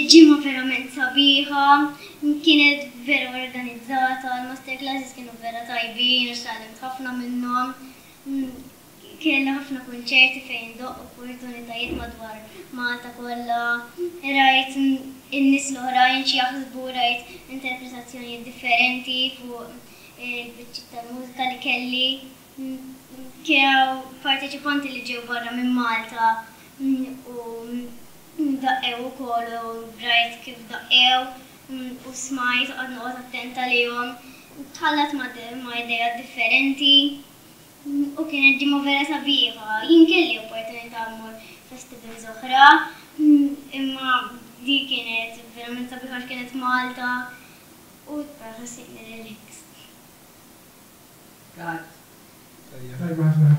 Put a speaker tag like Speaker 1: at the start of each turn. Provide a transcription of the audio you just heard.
Speaker 1: Kienet ġimgħa verament sabiħa, kienet vera organizzata, l-masterclasses kienu vera tajbin għax tgħallimt ħafna minnhom. Kelli ħafna kunċerti fejn indoqq, opportunitajiet madwar Malta kollha. Rajt in-nies l-oħrajn x'jaħsbu, rajt interpretazzjonijiet differenti fuq il-biċċiet tal-mużika li kelli. Kien hawn parteċipanti li ġew barra minn Malta u daqqew ukoll u rajt kif daqqew u smajt u qgħadt noqgħod attent għalihom. Tħallat ma' ideat differenti u kienet ġimgħa vera sabiħa. Jien kelli opportunità mmur festivals oħra imma di kienet verament sabiħa għax kienet Malta u ħassejtni relaxed.
Speaker 2: Kat.
Speaker 3: Tajjeb. Tajba ħafna.